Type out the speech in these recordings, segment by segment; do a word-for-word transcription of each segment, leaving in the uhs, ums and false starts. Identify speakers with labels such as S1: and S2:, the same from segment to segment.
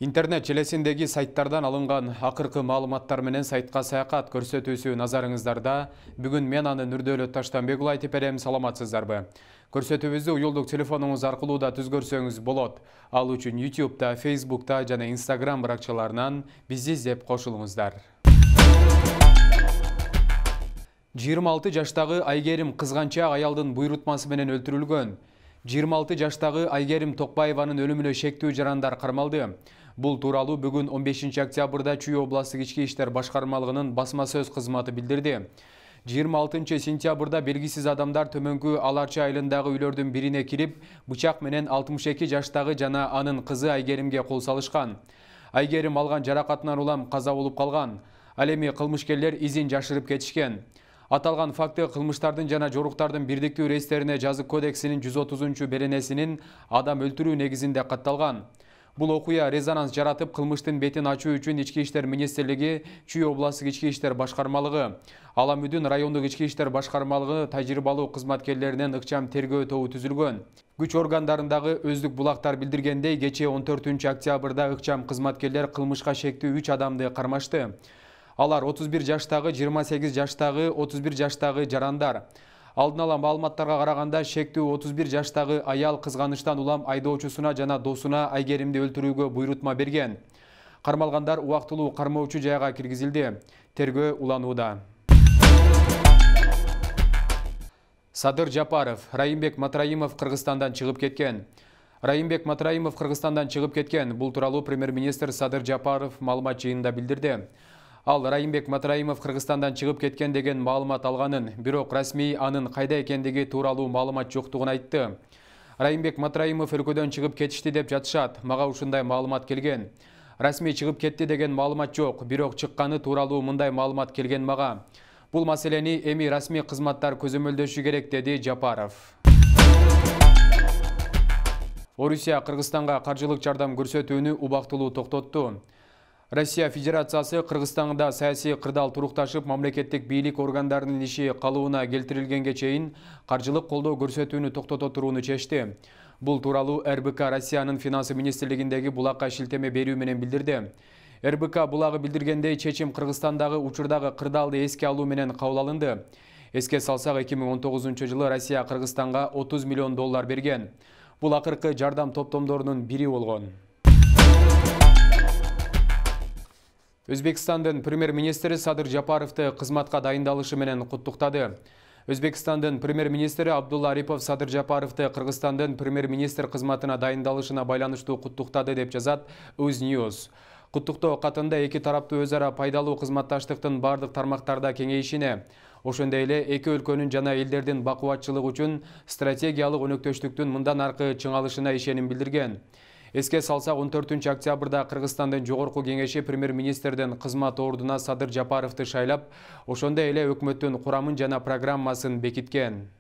S1: Интернет желесиндеги сайттардан алынган акыркы маалыматтар менен сайтка саякат көрсөтүүсү назарыңыздарда. Бүгүн мен аны Нурдөөлөт Таштанбек уулу айтып берем, саламатсыздарбы? Көрсөтүүбүздү уюлдук телефонуңуз аркылуу да түзгөрсөңүз болот. Ал үчүн YouTube'да, Facebook'та жана Instagram баракчаларынан бизди издеп кошулуңуздар. жыйырма алты жаштагы Айгерим Кызганчак аялдын буйрутмасы менен өлтүрүлгөн. жыйырма алты жаштагы Айгерим Токпаеванын өлүмүнө шектүү жарандар кармалды. Бул тууралуу бүгүн он бешинчи октябрда Чүй областык ички иштер башкармалыгынын басма сөз кызматы билдирди. жыйырма алтынчы сентябрда белгисиз адамдар төмөнкү Аларчы айылындагы үйлөрдүн бирине кирип, бычак менен алтымыш эки жаштагы жана анын кызы Айгеримге кол салышкан. Айгерим алган жаракатынан улам каза болуп калган. Ал эми кылмышкерлер изин жашырып кетишкен. Аталган факты кылмыштардын жана жоруктардын бирдиктүү рейстерине жазык кодексинин жүз отузунчу беренесинин адам өлтүрүү негизинде катталган. Бул окуя резонанс жаратып, кылмыштын бетин ачуу үчүн Ички иштер министрлиги, Чүй областык ички иштер башкармалыгы, Аламүдүн райондук ички иштер башкармалыгы тажрыйбалуу кызматкерлеринен ыкчам тергөө тобу түзүлгөн. Күч органдарындагы өздүк булактар билдиргендей, кечээ он төртүнчү октябрда ыкчам кызматкерлер кылмышка шектүү үч адамды кармашты. Алар отуз бир жаштагы, жыйырма сегиз жаштагы, отуз бир жаштагы жарандар. Алдын ала маалыматтарга караганда, шектүү отуз бир жаштагы аял кызганычтан улам айдоочусуна жана досуна Айгеримди өлтүрүүгө буйрутма берген. Кармалгандар убактылуу кармоочу жайга киргизилди. Тергөө уланууда. Садыр Жапаров, Райымбек Матраимов Кыргызстандан чыгып кеткен. Райымбек Матраимов Кыргызстандан чыгып кеткен. Бул тууралуу премьер-министр Садыр Жапаров маалымат жыйынында билдирди. Ал Райымбек Матраимов Кыргызстандан чыгып кеткен деген маалымат алганын, бирок расмий анын кайда экендиги тууралуу маалымат жоктугун айтты. Райымбек Матраимов өлкөдөн чыгып кетишти деп жатышат. Мага ушундай маалымат келген. Расмий чыгып кетти деген маалымат жок, бирок чыкканы тууралуу мындай маалымат келген мага. Бул маселени эми расмий кызматтар көзөмөлдөшү керек, деди Жапаров. Орусия Кыргызстанга каржылык жардам көрсөтүүнү убактылуу токтотту. Россия Федерациясы Кыргызстанда саясий кырдаал турукташып, мамлекеттик бийлик органдарынын иши калыбына келтирилгенге чейин каржылык колдоо көрсөтүүнү токтото турууну чечти. Бул тууралуу эр бэ ка Россиянын финансы министрлигиндеги булакка шилтеме берүү менен билдирди. эр бэ ка булагы билдиргендей, чечим Кыргызстандагы учурдагы кырдаалды эске алуу менен кабыл алынды. Эске салсак, эки миң он тогузунчу жылы Россия Кыргызстанга отуз миллион доллар берген. Бул акыркы жардам топтомдорунун бири болгон. Өзбекстандын премьер-министри Садыр Жапаровду кызматка дайындалышы менен куттуктады. Өзбекстандын премьер-министри Абдулла Арипов Садыр Жапаровду Кыргызстандын премьер-министр кызматына дайындалышына байланыштуу куттуктады деп жазат Uznewz. Куттуктоо катында эки тараптуу өз ара пайдалуу кызматташтыктын бардык тармактарда кеңейишине, ошондой эле эки өлкөнүн жана элдердин бакубатчылыгы үчүн стратегиялык өнөктөштүктүн мындан аркы чыңалышына ишеним билдирген. Эске салсак, он төртүнчү октябрда Кыргызстандын жогорку кеңеши премьер-министрдин кызмат ордуна Садыр Жапаровду шайлап, ошондой эле өкмөттүн курамын жана программасын бекиткен.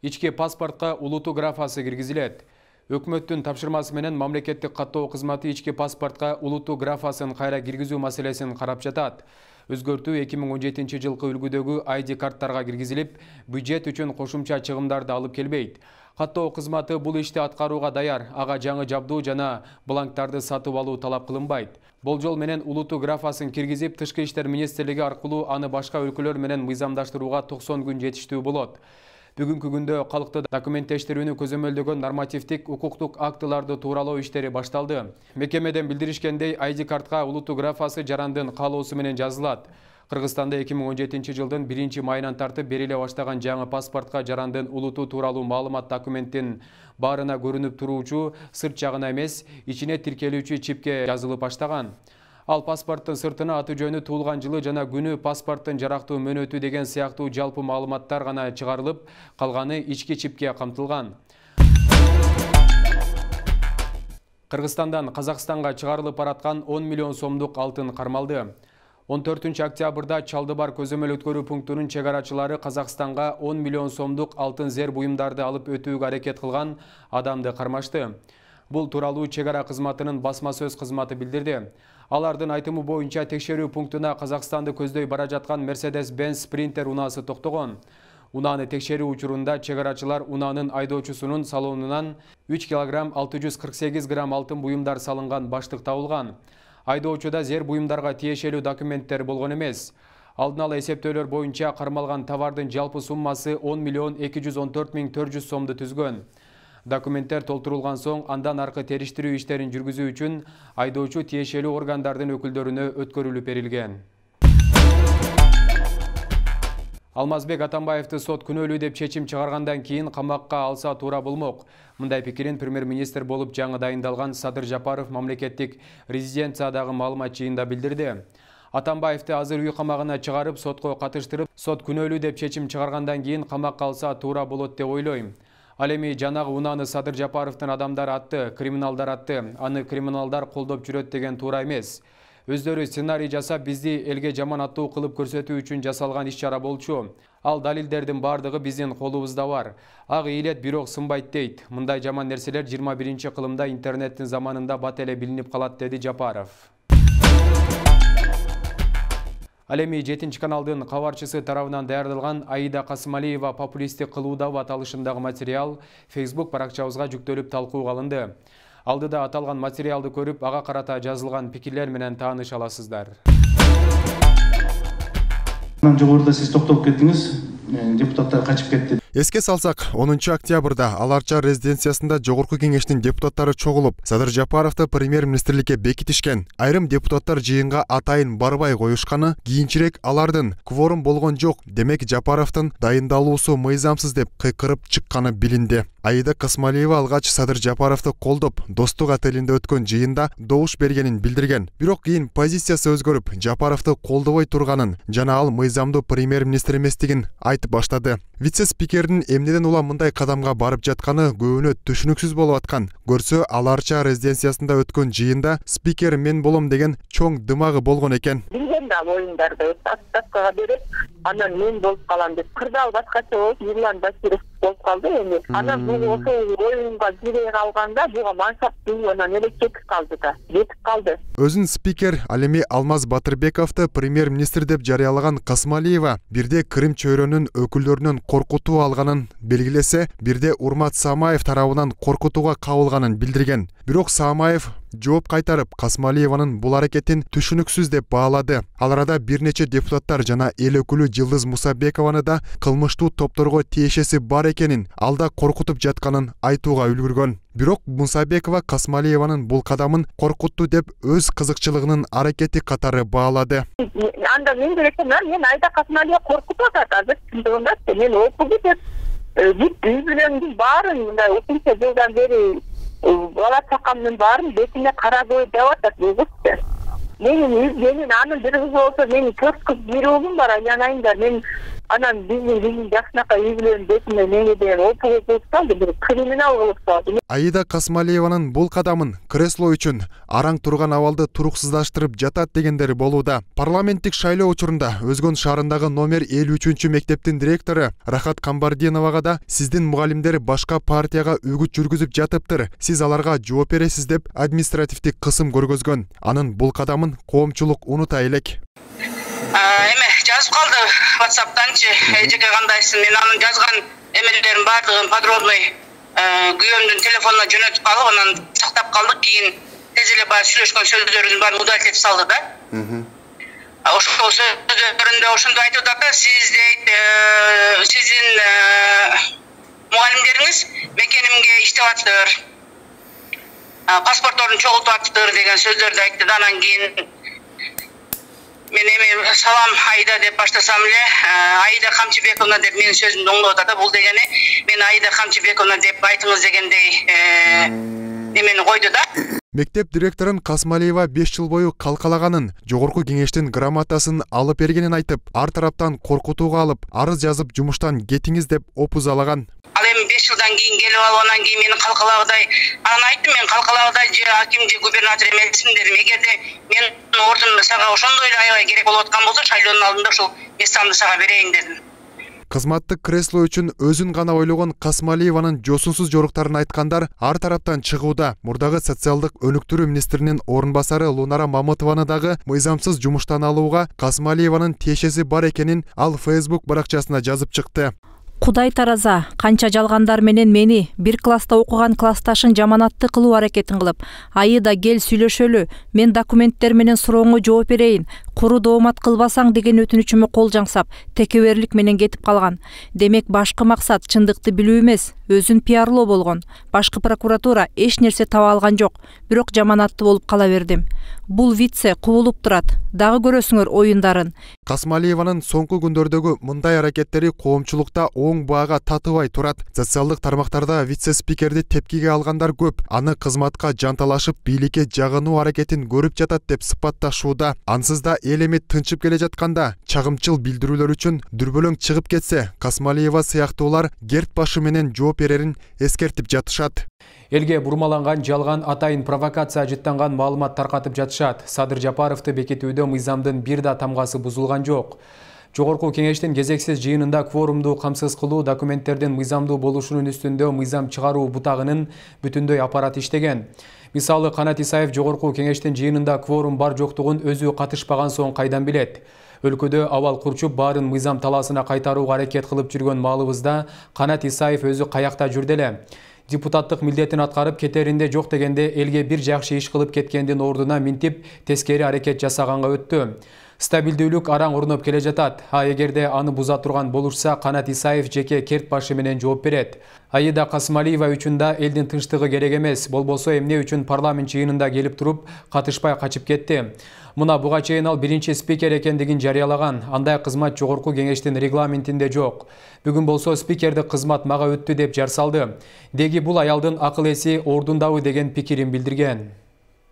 S1: Ички паспортко улуту графасы киргизилет. Өкмөттүн тапшырмасы менен мамлекеттик каттоо кызматы ички паспортко улуту графасын кайра киргизүү маселесин карап жатат. Өзгөртүү эки миң он жетинчи жылкы үлгүдөгү ай ди карттарга киргизилип, бюджет үчүн кошумча чыгымдарды алып келбейт. Каттоо кызматы бул ишти аткарууга даяр, ага жаңы жабдуу жана бланктарды сатып алуу талап кылынбайт. Болжол менен улуту графасын киргизип, Тышкы иштер министрлиги аркылуу аны башка өлкөлөр менен мыйзамдаштырууга токсон күн жетиштүү болот. Бүгүнкү күндө калкты документтештирүүнү көзөмөлдөгөн нормативдик укуктук актыларды тууралоо иштери башталды. Мекемеден билдиришкендей, ай ди картка улуту графасы жарандын каалоосу менен жазылат. Кыргызстанда эки миң он жетинчи жылдын биринчи майынан тартып бериле баштаган жаңы паспортко жарандын улуту тууралуу маалымат документтин баарына көрүнүп туруучу сырт жагына эмес, ичине тиркелүүчү чипке жазылып баштаган. Ал паспорттун сыртына аты жөнү, туулган жылы жана күнү, паспорттун жарактуу мөөнөтү деген сыяктуу жалпы маалыматтар гана чыгарылып, калганы ички чипке камтылган. Кыргызстандан Казакстанга чыгарылып бараткан он миллион сомдук алтын кармалды. он төртүнчү октябрда Чалдыбар көзөмөл өткөрүү пунктунун чегарачылары Казакстанга он миллион сомдук алтын зер буюмдарды алып өтүүгө аракет кылган адамды кармашты. Бул тууралуу чегара кызматынын басма сөз кызматы билдирди. Алардын айтымы боюнча, текшерүү пунктуна Казакстанды көздөй бара жаткан Mercedes-Benz Sprinter унаасы токтогон. Унааны текшерүү учурунда чек арачылар унаанын айдоочусунун салонунан үч килограмм алты жүз кырк сегиз грамм алтын буюмдар салынган баштык табылган. Айдоочуда зер буюмдарга тиешелүү документтер болгон эмес. Алдын ала эсептөөлөр боюнча кармалган товардын жалпы суммасы он миллион эки жүз он төрт миң төрт жүз сомду түзгөн. Документтер толтурулган соң андан аркы териштирүү иштерин жүргүзүү үчүн айдоочу тиешелүү органдардын өкүлдөрүнө өткөрүлүп берилген. Алмазбек Атамбаевди сот күнөөлүү деп чечим чыгаргандан кийин камакка алса туура болмок. Мындай пикирин премьер-министр болуп жаңы дайындалган Садыр Жапаров мамлекеттик резиденциядагы маалымат жыйында билдирди. Атамбаевди азыр үй камагына чыгарып, сотко катыштырып, сот күнөөлүү деп чечим чыгаргандан кийин камакка алса туура болот деп ойлойм. Ал эми жанагы унааны Садыр Жапаровдун адамдары атты, криминалдар атты, аны криминалдар колдоп жүрөт деген туура эмес. Өздөрү сценарий жасап бизди элге жаман аттуу кылып көрсөтүү үчүн жасалган иш-чара болчу. Ал далилдердин бардыгы биздин колубузда бар. Ак ийилет бирок сынбайт дейт. Мындай жаман нерселер жыйырма биринчи кылымда интернеттин заманында бат эле билинип калат, деди Жапаров. Ал эми жетинчи каналдын кабарчысы тарабынан даярдалган Аида Касымалиева популисттик кылуудабы аталышындагы материал Facebook баракчабызга жүктөлүп талкууга алынды. Алдыда аталган материалды көрүп, ага карата жазылган пикирлер менен тааныша аласыздар.
S2: Жогоруда сиз токтоп кеттиңиз, депутаттар качып кетти.
S3: Эске салсак, онунчу октябрда Аларча резиденциясында жогорку кеңештин депутаттары чогулуп, Садыр Жапаровду премьер-министрликке бекитишкен. Айрым депутаттар жыйынга атайын барбай коюшканы, кийинчерээк алардын кворум болгон жок, демек Жапаровдун дайындалуусу мыйзамсыз деп кыйкырып чыкканы билинди. Аида Касымалиева алгач Садыр Жапаровду колдоп, Достук отелинде өткөн жыйында добуш бергенин билдирген. Бирок кийин позициясы өзгөрүп, Жапаровду колдобой турганын жана ал мыйзамдуу премьер-министр эместигин айтып баштады. Вице-спикердин эмнеден улам мындай кадамга барып жатканы көбүнө түшүнүксүз болуп аткан. Көрсө, Аларча резиденциясында өткөн жыйында спикер мен болом деген чоң дымагы болгон экен.
S4: Билген да оюндарды аттакка берип, анан мен болуп калам деп кырдаал башкача болуп, Ирлан Баширов болуп калды эми. Анан бул ошол оюнга кире калганда буга мансап анан эле кетип калды да. Кетип калды.
S3: Өзүн спикер, ал эми Алмаз Батырбековду премьер-министр деп жарыялаган Касымалиева бирде Крым чөйрөнүн өкүлдөрүнөн коркутуу алганын белгилесе, бирде Урмат Самаев тарабынан коркутууга кабылганын билдирген. Бирок Самаев жооп кайтарып, Касымалиеванын бул аракетин түшүнүксүз деп баалады. Ал арада бир нече депутаттар жана эл өкүлү Жылдыз Мусабекованы да кылмыштуу топторго тиешеси бар экенин, алда коркутуп жатканын айтууга үлгүргөн. Бирок Мусабекова Касымалиеванын бул кадамын коркутту деп өз кызыкчылыгынын аракети катары баалады.
S4: Анда мен директор, мен Аида Касымалиева коркутуп атат, азыр чындыгында мен окуп деп бүт үйбүлөрүмдүн баарын мындай ушунча жылдан бери бала чакамдын баарын бетине кара кой деп атат бул кыз. Менин менин анын бир кызы болсо, менин төрт кыз бир уулум бар, айланайындар. Мен анан биздин биздин жакшынакай үйбүлөрүм бетине мени деген опуга кылып салды, бир криминал кылып салды.
S3: Аида Касымалиеванын бул кадамын кресло үчүн араң турган абалды туруксуздаштырып жатат дегендери болууда. Парламенттик шайлоо учурунда Өзгөн шаарындагы номер элүү үчүнчү мектептин директору Рахат Камбардиновага да сиздин мугалимдер башка партияга үгүт жүргүзүп жатыптыр, сиз аларга жооп бересиз деп административдик кысым көргөзгөн. Анын бул кадамын коомчулук унута элек.
S5: Эме жазып калды WhatsApp'танчы, эжеке кандайсың, мен анын жазган эмелерин бардыгын подробный күйөөмдүн телефонуна жөнөтүп алып, анан сактап калдык. Кийин тез эле баягы сүйлөшкөн сөздөрүн баарын удалить этип салды да. Ошол сөздөрүндө ошондой айтып атат да, сиз дейт, сиздин мугалимдериңиз мекенимге иштеп атыптыр, паспортторун чогултуп атыптыр деген сөздөрдү айтты да. Анан кийин мен эми салам Аида деп баштасам эле, Аида Камчыбековна деп менин сөзүмдү оңдоп атат да. Бул дегени мен Аида Камчыбековна деп айтыңыз дегендей немени койду да.
S3: Мектеп директорун Касымалиева беш жыл бою калкалаганын, жогорку кеңештин грамотасын алып бергенин айтып, ар тараптан коркутууга алып, арыз жазып жумуштан кетиңиз деп опузалаган.
S5: Ал эми беш жылдан кийин келип алып, анан кийин мени калкалагыдай, анан айттым, мен калкалагыдай же аким же губернатор эмесмин дедим. Эгерде мен ордун сага ошондой эле аябай керек болуп аткан болсо, шайлоонун алдында ушул местамды сага берейин дедим.
S3: Кызматтык кресло үчүн өзүн гана ойлогон Касымалиеванын жосунсуз жоруктарын айткандар ар тараптан чыгууда. Мурдагы социалдык өнүктүрүү министринин орун басары Лунара Мамытованы дагы мыйзамсыз жумуштан алууга Касымалиеванын тиешеси бар экенин ал Facebook баракчасына жазып чыкты.
S6: Кудай тараза, канча жалгандар менен мени бир класста окуган классташын жаманатты кылуу аракетин кылып, айыда кел сүйлөшөлү, мен документтер менен сурооңо жооп берейин, куру доомат кылбасаң деген өтүнүчүмө кол жаңсап, текеберлик менен кетип калган. Демек башкы максат чындыкты билүү эмес, өзүн пиарлоо болгон. Башкы прокуратура эч нерсе таба алган жок, бирок жаманатты болуп кала бердим. Бул витсе кубулуп турат. Дагы көрөсүңөр оюндарын.
S3: Касмалиеванын соңку күндөрдөгү мындай аракеттери коомчулукта оң баага татыбай турат. Социалдык тармактарда вице-спикерди тепкиге алгандар көп. Аны кызматка жанталашып, бийликке жагынуу аракетин көрүп жатат деп сыпатташууда. Ансыз да эл эми тынчып келе жатканда чагымчыл билдирүүлөр үчүн дүрбөлөң чыгып кетсе, Касмалиева сыяктуулар герт башы менен жооп берерин эскертип жатышат.
S1: Элге бурмаланган жалган атайын провокация жыттанган маалымат таркатып жатышат. Садыр Жапаровду бекитүүдө мыйзамдын бир да тамгасы бузулган жок. Жогорку кеңештин кезексиз жыйынында кворумду камсыз кылуу, документтердин мыйзамдуу болушунун үстүндө мыйзам чыгаруу бутагынын бүтүндөй аппарат иштеген. Мисалы, Канат Исаев жогорку кеңештин жыйынында кворум бар жоктугун өзү катышпаган соң кайдан билет? Өлкөдө абал курчуп баарын мыйзам талаасына кайтарууга аракет кылып жүргөн маалыбызда Канат Исаев өзү каякта жүрдү эле. Депутаттык милдетин аткарып кетеринде жок дегенде элге бир жакшы иш кылып кеткендин ордуна минтип тескери аракет жасаганга өттү. Стабилдүүлүк араң орноп келе жатат. А эгерде аны буза турган болушса, Канат Исаев жеке керт башы менен жооп берет. Айыда Касмалиева үчүн да элдин тынчтыгы керек эмес. Болбосо эмне үчүн парламент жыйынында келип туруп катышпай качып кетти? Мына буга чейин ал биринчи спикер экендигин жарыялаган. Андай кызмат жогорку кеңештин регламентинде жок. Бүгүн болсо спикердик кызмат мага өттү деп жар салды. Деги бул аялдын акыл эси ордундабы деген пикирин билдирген.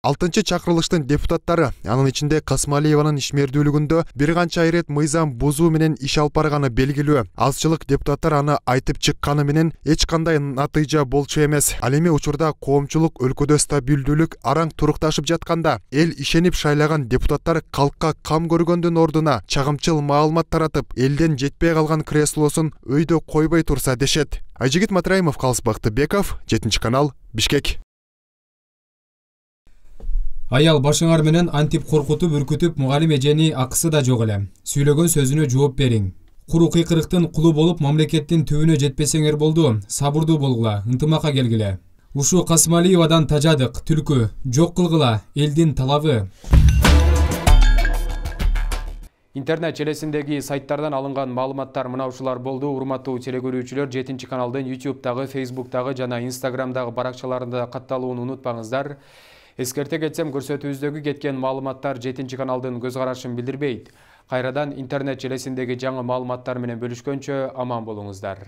S3: Алтынчы чакырылыштын депутаттары, анын ичинде Касмалиеванын ишмердүүлүгүндө бир канча ирет мыйзам бузуу менен иш алып барганы белгилүү. Азчылык депутаттар аны айтып чыкканы менен эч кандай натыйжа болчу эмес. Ал эми учурда коомчулук өлкөдө стабилдүүлүк араң турукташып жатканда, эл ишенип шайлаган депутаттар калкка кам көргөндүн ордуна чагымчыл маалымат таратып, элден жетпей калган креслосун өйдө койбой турса дешет. Айжигит Матраимов, Калыс Бактыбеков, жетинчи канал, Бишкек.
S1: Аял башыңар менен антип коркутуп, үркүтүп, мугалим эжени акысы да жок эле. Сүйлөгөн сөзүнө жооп бериң. Куру кыйкырыктын кулу болуп, мамлекеттин түбүнө жетпесеңер болду. Сабырдуу болгула, ынтымакка келгиле. Ушу Касмалиевадан тажадык, түлкү, жок кылгыла, элдин талабы. Интернет желесиндеги сайттардан алынган маалыматтар мына ушулар болду. Урматтуу телекөрүүчүлөр, жетинчи каналдын ютубтагы, фейсбуктагы жана инстаграмдагы баракчаларында катталууну унутпаңыздар. Эскерте кетсем, көрсөтүүбүздөгү кеткен маалыматтар жетинчи каналдын көз карашын билдирбейт. Кайрадан интернет желесиндеги жаңы маалыматтар менен бөлүшкөнчө аман болуңуздар.